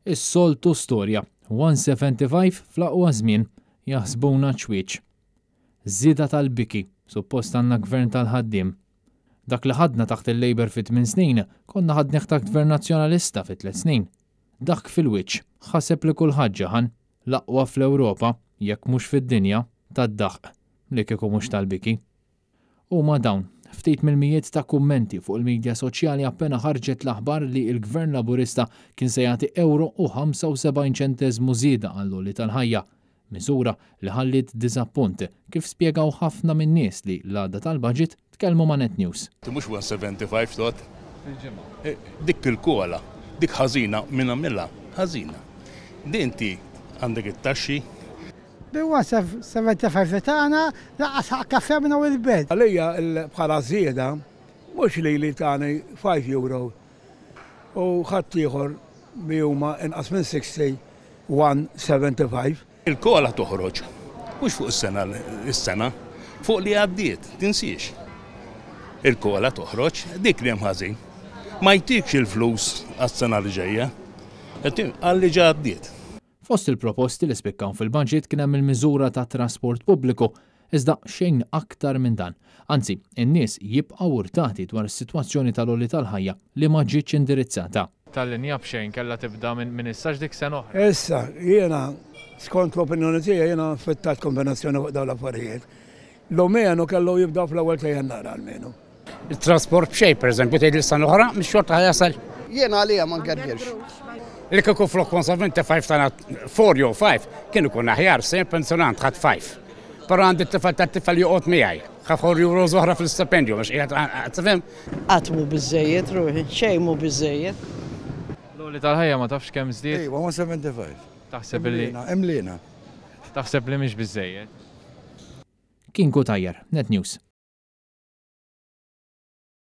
Is-soltu storja, 175 fl-aqwa żmien, jaħsbuna ċwieċ. Żieda tal-biki, suppost għandna gvern tal-ħaddiem. Dak li ħadna taħt il-Labour fi tmin snin, konna ħadnih taħt gvern Nazzjonalista fi tlett snin. Daħk fil-wiċċ, ħaseb li kulħadd ġaħan. L-aqwa fl-Ewropa, jekk mhux fid-dinja, tad-daħq, li kieku mhux tal-biki. Huma dawn ftit mill-mijiet ta' kummenti fuq il-midja soċjali appena ħarġet l-aħbar li l-Gvern Laburista kien se jagħti ewro u 75 ċenteżmu żieda għall-għoli tal-ħajja. Miżura li ħalliet diżappunt, kif spjegaw ħafna min-nies li l-għada tal-budget tkellmu ma' Net News. Mhux 175 tot. Fil-ġimgħa. Dik il-kola, dik ħażina min għamilha, ħażina. Din inti għandek it-taxxi. Bi 175 li tagħna lanqas ħaqq kafè minn hawn il-belt. Għalija bħala żieda mhux lili tani 5 euro u ħaddieħor li huma inqas minn 60 175. Il-kola toħroġ mhux fuq is-sena is-sena, fuq li għaddiet, tinsiex. Il-kola toħroġ, dik li hemm ħażin. Ma jtikx il-flus għas-sena li ġejja, għal li ġa għaddiet. Fost il-proposti li spikkaw fil-budget kien hemm il-miżura tat-trasport pubbliku, iżda xejn aktar minn dan. Anzi, in-nies jibqgħu urtati dwar is-sitwazzjoni tal-għoli tal-ħajja li ma ġietx indirizzata. Tal-linja b'xejn kellha tibda minn issa x'dik sena oħra. Issa, jiena, skont l-opinjoni tiegħi, jiena fittat kombinazzjoni fuq dawn l-affarijiet. L-omenu kellu jibda fl-ewwel ta' Jannar almenu. Il-trasport b'xejn, pereżempju, tgħid li sena oħra, mhix xorta ħa jasal. Jiena għalija ma ngergirx. Li kieku flok 175 tana 4 jew 5, kien ikun aħjar, se jien pensjonant ħadd 5. Però għandi t-tifel tat-tifel joqgħod miegħi. Ħa 4 euros oħra fl-istipendju, mhux qiegħed tifhem? Qatt mhu biżżejjed ruħi, xejn mhu biżżejjed. L-għoli tal-ħajja ma tafx kemm żdied? Iva, 175. Taħseb li. Imliena. Taħseb li mhix biżżejjed? Kien Cutajar, Net News.